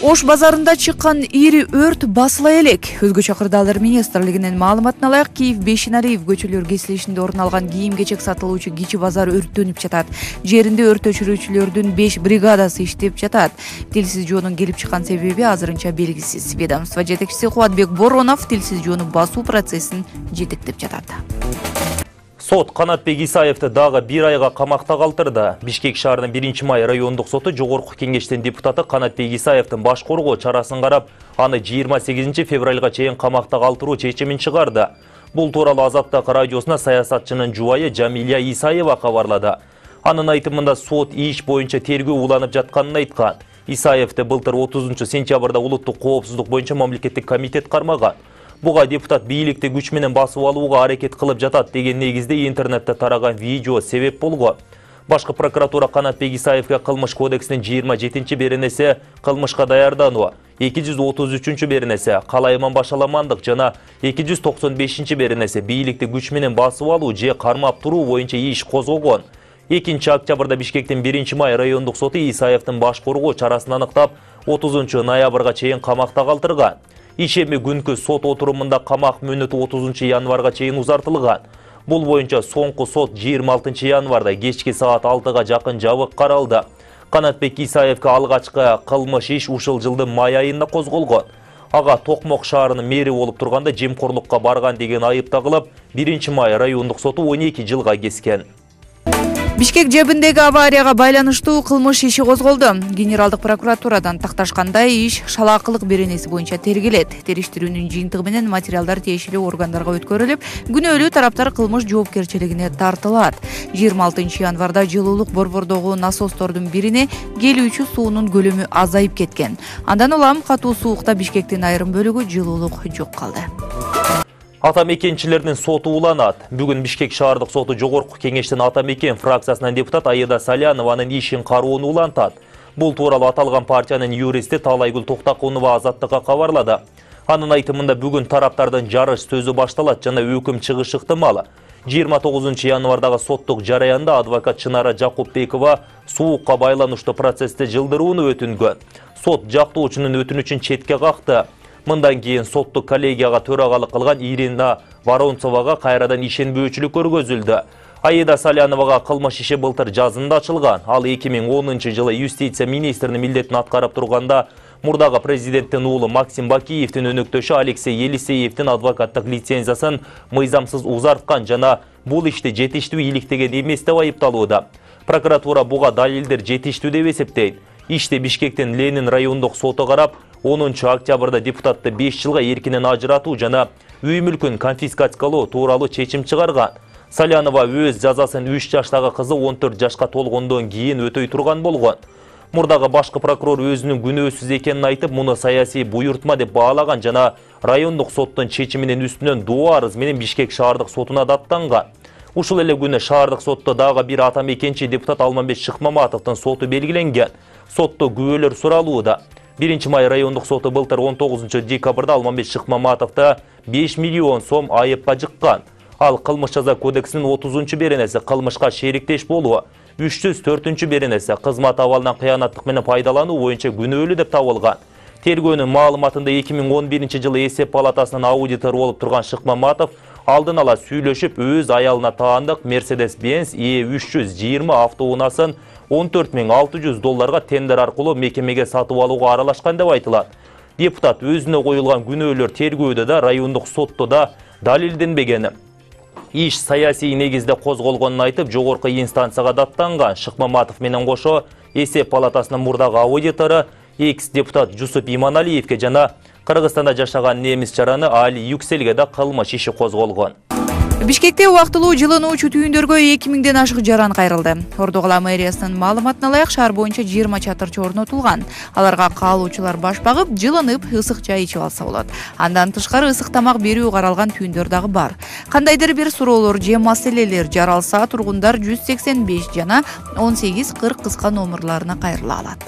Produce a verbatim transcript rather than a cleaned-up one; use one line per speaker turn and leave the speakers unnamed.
Ош базарында чыккан ири өрт басыла элек. Өзгөчө кырдаалдар министрлигинин маалыматына ылайык, Киев Бейшенариев көчөлөр кесилишинде орун алган кийим-кечек сатылуучу кичи базар өрттөнүп жатат. Жеринде өрт өчүрүүчүлөрдүн беш бригадасы иштеп жатат. Тилсиз жоонун келип чыккан себеби азырынча белгисиз. Ведомство жетекчиси Кубатбек Боронов тилсиз жоону басуу процессин жетектеп жатат.
Сот Канатбек Исаевди дагы бир айга камакта калтырды. Бишкек шаарынын биринчи май райондук соту жогорку кеңештин депутаты Канатбек Исаевдин баш коргоо чарасын карап, аны жыйырма сегизинчи февралга чейин камакта калтыруу чечимин чыгарды. Бул тууралуу Азаттык радиосуна саясатчынын жубайы Жамилия Исаева кабарлады. Анын айтымында сот иш боюнча тергөө уланып жатканын айткан. Исаевди былтыр отузунчу сентябрда улуттук коопсуздук боюнча мамлекеттик комитет кармаган. Буга депутат бийликти күч менен басып алууга аракет кылып жатат деген негизде интернетте тараган видео себеп болгон. Башкы прокуратура Канатбек Исаевге кылмыш кодексинин жыйырма жетинчи беренеси кылмышка даярдануу, эки жүз отуз үчүнчү беренеси калайман башаламандык жана эки жүз токсон бешинчи беренеси бийликти күч менен басып алуу же кармап туруу боюнча иш козгогон. экинчи октябрда Бишкектин биринчи май райондук соту Исаевдин баш коргоо чарасын аныктап, отузунчу ноябрга чейин камакта калтырган. Ишеми күнкү сот отурумунда камак мөөнөтү отузунчу январга чейин узартылган. Бул боюнча соңку сот жыйырма алтынчы январда кечки саат алтыга жакын жабык каралды. Канатбек Исаевге алгачкы кылмыш иш ушул жылдын май айында козголгон. Ага Токмок шаарынын мэри болуп турганда жемкорлукка барган деген айып тагылып, биринчи май райондук соту он эки жылга кескен.
Бишкек жебиндеги аварияга байланыштуу кылмыш иши козголду. Генералдык прокуратурадан такташкандай иш шалаакылык беренеси боюнча тергелет. Териштирүүнүн жыйынтыгы менен материалдар тиешелүү органдарга өткөрүлүп, күнөөлүү тараптар кылмыш жоопкерчилигине тартылат. жыйырма алтынчы январда жылуулук борбордогу насостордун бирине келүүчү суунун көлөмү азайып кеткен. Андан улам катуу суукта Бишкектин айрым бөлүгү жылуулук жок калды.
Ата мекенчилердин соту уланат. Бүгүн Бишкек шаардык соту жогорку кеңештин ата мекен фракциясынан депутат Аида Салянованын ишин кароону улантат. Бул тууралуу аталган партиянын юристи Талайгүл Токтакунова Азаттыкка кабарлады. Анын айтымында бүгүн тараптардын жарыш сөзү башталат жана өкүм чыгышы ыктымал. жыйырма тогузунчу январдагы соттук жараянда адвокат Чынара Жакупбекова суукка байланыштуу процессти жылдырууну өтүнгөн. Сот жактоочунун өтүнүчүн четке какты. Мындан кийин соттук коллегияга төрагалык кылган Ирина Воронцовага кайрадан ишенбөөчүлүк көргөзүлдү. Аида Саляновага кылмыш иши былтыр жазында ачылган. Ал эки миң онунчу жылы юстиция министринин милдетин аткарып турганда мурдагы президенттин уулу Максим Бакиевдин өнөктөшү Алексей Елисеевдин адвокаттык лицензиясын мыйзамсыз узарткан жана бул ишти жетиштүү иликтеген эмес деп айыпталууда. Прокуратура буга далилдер жетиштүү деп эсептейт. Ишти Бишкектин Ленин райондук соту карап, онунчу октябрда депутатты беш жылга эркинен ажыратуу жана үй мүлкүн конфискациялоо тууралуу чечим чыгарган. Салянова өз жазасын үч жаштагы кызы он төрт жашка толгондон кийин өтөй турган болгон. Мурдагы башкы прокурор өзүнүн күнөөсүз экенин айтып, муну саясий буйртма деп баалаган жана райондук соттун чечиминин үстүнөн доо арыз менен Бишкек шаардык сотуна даттанган. Ушул эле күнү шаардык сотто дагы бир ата мекенчи депутат Алмамбет Шыкмаматовдун соту белгиленген. Сотто күбөлөр суралууда. биринчи май райондук соту былтыр он тогузунчу декабрда Алмамбет Шыкмаматовду беш миллион сом айыпка жыккан. Ал кылмыш жаза кодексинин отузунчу беренеси кылмышка шериктеш болуу, үч жүз төртүнчү беренеси кызмат абалынан кыянаттык менен пайдалануу боюнча күнөөлүү деп табылган. Тергөөнүн маалыматында эки миң он биринчи жылы эсеп палатасынын аудитору болуп турган Шыкмаматов алдын ала сүйлөшүп өз аялына таандык Mercedes-Benz Е үч жүз жыйырма автоунаасын он төрт миң алты жүз долларга тендер аркылуу мекемеге сатып алууга аралашкан деп айтылат. Депутат өзүнө коюлган күнөөлөр тергөөдө да райондук сотто да далилденбеген. Иш саясий негизде козголгонун айтып, жогорку инстанцияга даттанган. Шыкмаматов менен кошо эсеп палатасынын мурдагы аудитору экс-депутат Жусуп Иманалиевге жана Кыргызстанда жашаган немис жараны Али Юкселге да кылмыш иши козголгон.
Бишкекте убактылуу жылынуучу түйүндөргө эки миңден ашык жаран кайрылды. Ордо кала мэриясынын маалыматына ылайык, шаар боюнча жыйырма чатырчы орнотулган. Аларга каалоочулар баш багып, жылынып, ысык чай ичип алса болот. Андан тышкары ысык тамак берүү каралган түйүндөр дагы бар. Кандайдыр бир суроолор же маселелер жаралса, тургундар жүз сексен беш жана он сегиз кырк кыска номерларына кайрыла алат.